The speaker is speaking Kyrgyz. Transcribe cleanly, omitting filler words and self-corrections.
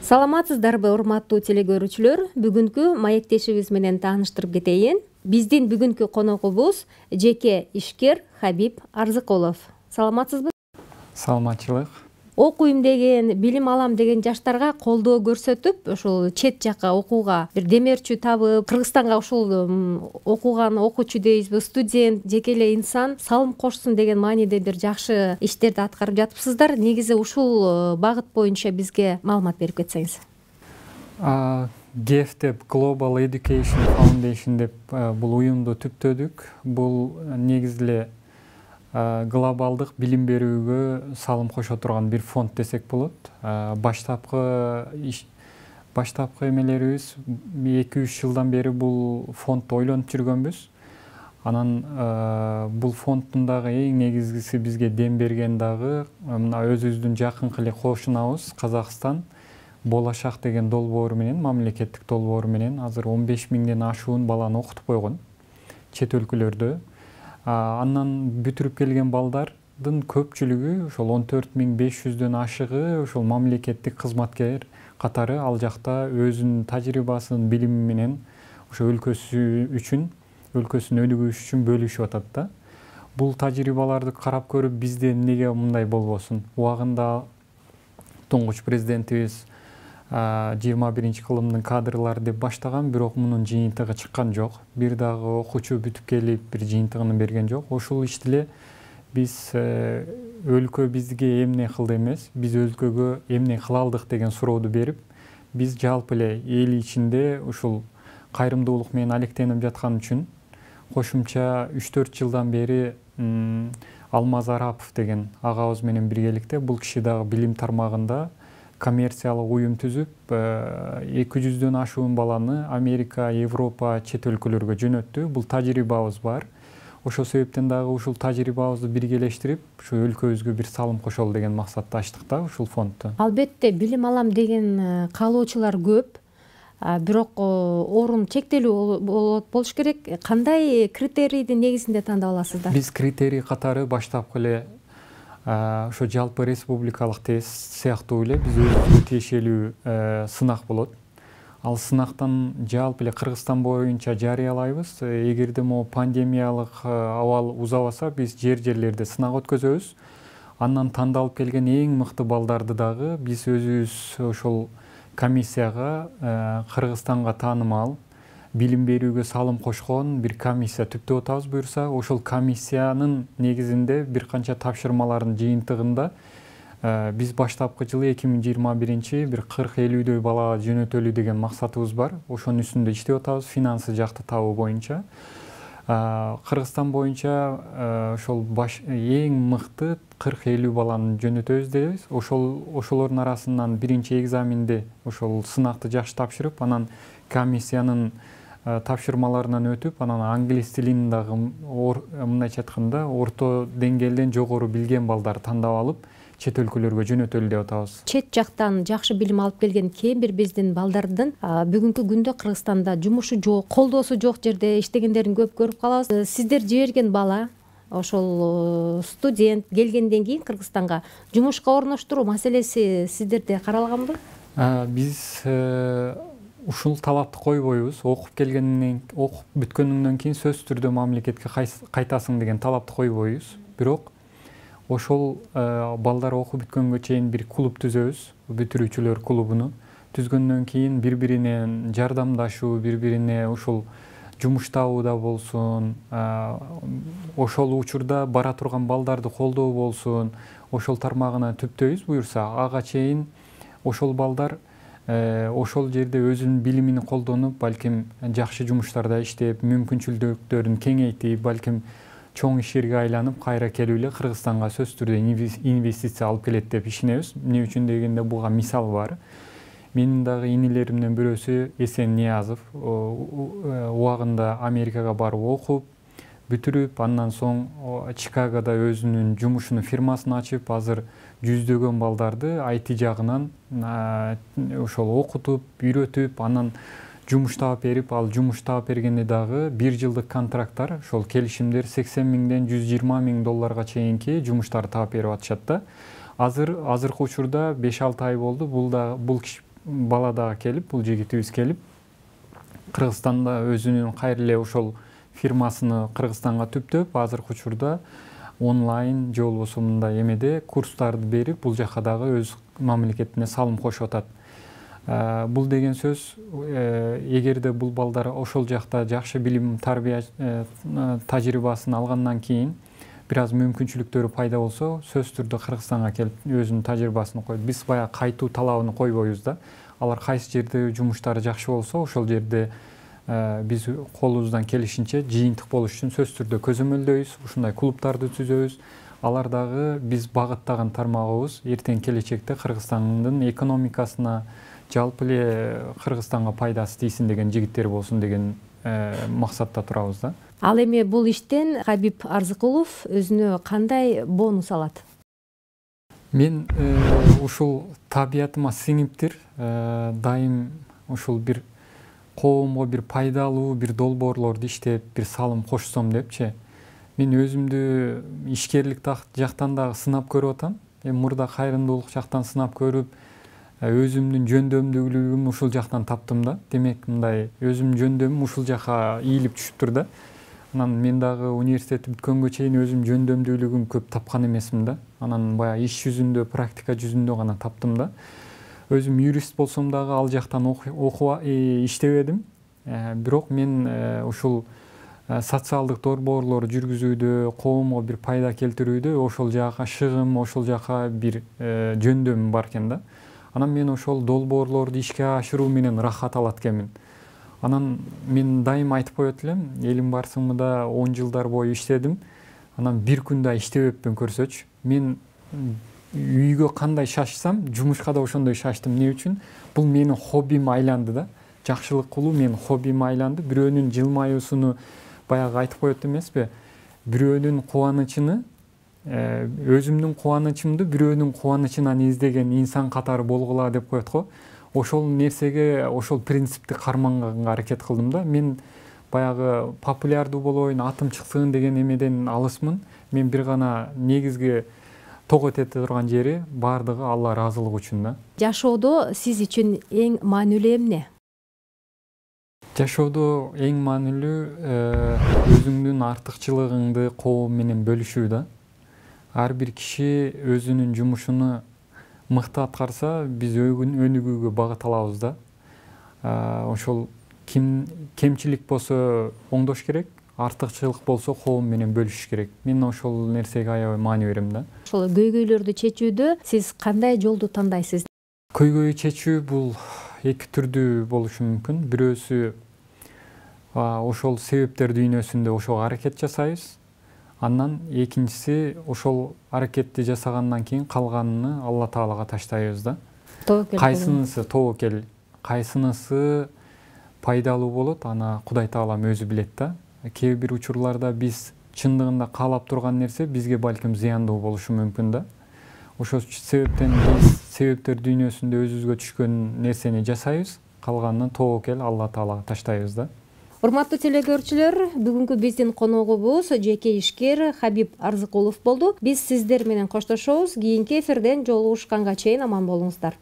Саламатсыздарбы, урматтуу телегөрүүчүлөр? Бүгүнкү маектешибиз менен тааныштырып кетейин. Биздин бүгүнкү коногубуз жеке ишкер Хабиб Арзыкулов. Саламатсызбы? Саламатчылык. Окуйм деген, билим алам деген жаштарга колдоо көрсөтүп, ушул чет жакка окууга бир демөөрчү табып, Кыргызстанга ушул окуган окуучу дейбизби, студент, жеке эле инсан салым кошсун деген мааниде бир жакшы иштерди аткарып жатыпсыздар. Негизи ушул багыт боюнча бизге маалымат берип кетсеңиз. GEF деп Global Education Foundation деп бул уюмду түптөдүк. Бул негизи эле глобалдык билим берүүгө салым кошо турган бир фонд десек болот. Баштапкы эмелерибиз 2-3 жылдан бери бул фондду ойлонуп жүргөнбүз. Анан бул фонддун дагы эң негизгиси бизге дем берген дагы мына өзүбүздүн жакынкы эле кошунабыз Казакстан Болашак деген долбоору менен, мамлекеттик долбоору менен азыр 15 миңден ашуун баланы окутуп койгон чет өлкөлөрдө. Андан бүтүрүп келген балдардын көпчүлүгү ошол 14.500дөн ашыгы ошол мамлекеттик кызматкер катары ал жакта өзүнүн тажрыйбасын, билими менен ошо өлкөсүн өнүгүш үчүн бөлүшүп атат да. Бул тажрыйбаларды карап көрүп бизде эмнеге мындай болбосун? Убагында туңгуч президентибиз 21-кылымдын кадрлары деп баштаган, бирок мунун жыйынтыгы чыккан жок. Бир дагы окуучу бүтүп келип бир жыйынтыгын берген жок. Ошол ишти эле биз өлкө бизге эмне кылды эмес, биз өлкөгө эмне кыла алдык деген сурооду берип, биз жалпы эле эл ичинде ушул кайрымдуулук менен алектенип жаткан үчүн кошумча 3-4 жылдан бери Алмаз Арапов деген агабыз менен биргеликте бул киши дагы билим тармагында коммерциялык уюм түзүп 200дөн ашуун баланы Америка, Европа, чет өлкөлөргө жөнөттү. Бул тажрыйбабыз бар. Ошол себептен дагы ушул тажрыйбабызды биргелештирип, ушу өлкөбүзгө бир салым кошолу деген максатта ачтык да ушул фондду. Албетте, билим алам деген каалоочулар көп. Бирок орун чектелүү болуш керек. Кандай критерийдин негизинде тандап аласыздар? Биз критерий катары баштапкы эле ошо жалпы республикалык тест сыяктуу эле биз өзүбүзгө тиешелүү сынак болот. Ал сынактан жалпы эле Кыргызстан боюнча жарыялайбыз. Эгерде могу пандемиялык абал узабаса, биз жерлерде сынак өткөзөбүз. Андан тандалып келген эң мыкты балдарды дагы биз өзүбүз ошол комиссияга, Кыргызстанга таанымал билим берүүгө салым кошкон бир комиссия түптөп атабыз буюрса, ошол комиссиянын негизинде бир канча тапшырмалардын жыйынтыгында биз баштапкы жылы 2021 бир 40-50дөй балага жөнөтөлү деген максатыбыз бар. Ошонун үстүндө иштеп атабыз, финансы жакты табуу боюнча. Кыргызстан боюнча ошол эң мыкты 40-50 баланы жөнөтөбүз дейбиз. Ошолордун арасынан биринчи экзаменде ошол сынакты жакшы тапшырып, анан комиссиянын тапшырмаларынан өтүп, анан англис тилин дагы мындайча айтканда орто деңгээлден жогору билген балдарды тандап алып, чет өлкөлөргө жөнөтөлү деп атабыз. Чет жактан жакшы билим алып келген кээ бир биздин балдардын бүгүнкү күндө Кыргызстанда жумушу жок, колдоосу жок жерде иштегендерин көп көрүп калабыз. Сиздер жиберген бала ошол студент келгенден кийин Кыргызстанга жумушка орноштуруу маселеси сиздерде каралганбы? Биз ушул талапты койбойбуз. Окуп бүткөндөн кийин сөзсүз түрдө мамлекетке кайтасың деген талапты койбойбуз. Бирок ошол балдар окуп бүткөнгө чейин бир клуб түзөбүз, бүтүрүүчүлөр клубуну. Түзгөндөн кийин бири-бирине жардамдашуу, бири-бирине ушул жумуш табууда болсун, ошол учурда бара турган балдарды колдоо болсун, ошол тармагына түптөйбүз буюрса, ага чейин ошол балдар ошол жерде өзүнүн билимин колдонуп, балким жакшы жумуштарда иштеп, мүмкүнчүлүктөрүн кеңейтип, балким чоң ишерге айланып, кайра келип эле Кыргызстанга сөзсүз түрдө инвестиция алып келет деп ишенебиз. Эмне үчүн дегенде буга мисал бар. Менин дагы инилеримден бирөөсү Эсен Ниязов убагында Америкага барып окуп, бүтүрүп, андан соң Чикагода өзүнүн жумушунун фирмасын ачып, азыр жүздөгөн балдарды IT жагынан ошол окутуп, үйрөтүп, анан жумуш таап берип, ал жумуш таап бергенде дагы 1 жылдык контракттар, ошол келишимдер 80 миңден 120 миң долларга чейинки жумуштар таап берип атышат да. Азыркы учурда 5-6 ай болду. Бул бала дагы келип, бул жигитибиз келип, Кыргызстанда өзүнүн кайра эле ошол фирмасыны Кыргызстанга түптөп, азыркы учурда онлайн же болбосо мындай эмеде курстарды берип, бул жака дагы өз мамлекетине салым кошуп атат. Бул деген сөз, эгерде бул балдар ошол жакта жакшы билим, тарбия тажрыйбасын алгандан кийин бир аз мүмкүнчүлүктөрү пайда болсо, сөзсүз түрдө Кыргызстанга келип өзүнүн тажрыйбасын коет. Биз баягы кайтуу талабын койбойбуз да. Алар кайсы жерде жумуштары жакшы болсо, ошол жерде биз колубуздан келишинче жыйынтык болуш үчүн сөзсүз түрдө көзөмөлдөйбүз, ушундай клубтарды түзөбүз. Алар дагы биз багыттаган тармагыбыз эртең келечекте Кыргызстандын экономикасына, жалпы эле Кыргызстанга пайдасы тийсин деген жигиттер болсун деген максатта турабыз да. Ал эми бул иштен Хабиб Арзыкулов өзүнө кандай бонус алат? Мен ушул табиятыма сиңиптир, дайым ушул бир коомго бир пайдалуу бир долбоорлорду иштеп, бир салым кошсом депчи. Мен өзүмдү ишкерлик жактан дагы сынап көрүп атам. Мурда кайрымдуулук жактан сынап көрүп, өзүмдүн жөндөмдүүлүгүм ушул жактан таптым да. Демек, мындай өзүмдүн жөндөмүм ушул жака ийилип түшүптүр да. Анан мен дагы университетти бүткөнгө чейин өзүм жөндөмдүүлүгүм көп тапкан эмесмин да. Анан баягы иш жүзүндө, практика жүзүндө гана таптым да. Өзүм юрист болсом дагы ал жактан иштебедим. Бирок мен ушул социалдык долбоорлор жүргүзүүдө, коомго бир пайда келтирүүдө ошол жака шыгым, ошол жака бир жөндөмүм бар экен да. Анан мен ошол долбоорлорду ишке ашыруу менен рахат алат экенмин. Анан мен дайым айтып коет элем, элим барсыңмыда 10 жылдар бою иштедим. Анан бир күн да иштебеппин көрсөчү. Мен үйгө кандай шашсам, жумушка да ошондой шаштым. Эмне үчүн? Бул менин хоббиме айланды да. Жакшылык кылуу менин хоббиме айланды. Бирөөнүн жылмаюусуну баягы айтып коет эмеспи? Бирөөнүн кубанычын өзүмдүн кубанычымды бирөөнүн кубанычынан издеген инсан катары болгула деп коет го. Ошол нерсеге, ошол принципти карманганга аракет кылдым да. Мен баягы популярдуу болоюн, атым чыксын деген эмеден алысмын. Мен бир гана негизги тогот эте турган жери баардыгы Алла ыраазылыгы үчүн да. Жашоодо сиз үчүн эң маанилүү эмне? Жашоодо эң маанилүү өзүңдүн артыкчылыгыңды коом менен бөлүшүү да. Ар бир киши өзүнүн жумушуну мыкты аткарса, биз өнүгүүгө багыт алабыз да. Ошол кемчилик болсо оңдош керек, артыкчылык болсо коом менен бөлүшүш керек. Мен ошол нерсеге аябай маани берем да. Ошол көйгөйлөрдү чечүүдө сиз кандай жолду тандайсыз? Көйгөй чечүү бул эки түрдүү болушу мүмкүн. Бирөөсү ошол себептер дүйнөсүндө ошого аракет жасайбыз. Андан экинчиси ошол аракетти жасагандан кийин калганын Алла Таалага таштайбыз да. Кайсынысы тобокел, кайсынысы пайдалуу болот, аны Кудай Таалам өзү билет да. Кээ бир учурларда биз чындыгында каалап турган нерсе бизге балким зыяндуу болушу мүмкүн да. Ошол себептен биз себептер дүйнөсүндө өзүбүзгө түшкөн нерсени жасайбыз, калганын тобокел Алла Таалага таштайбыз да. Урматтуу телекөрүүчүлөр, бүгүнкү биздин коногубуз жеке ишкер Хабиб Арзыкулов болду. Биз сиздер менен коштошобуз. Кийинки эфирден жолугушканга чейин аман болуңуздар.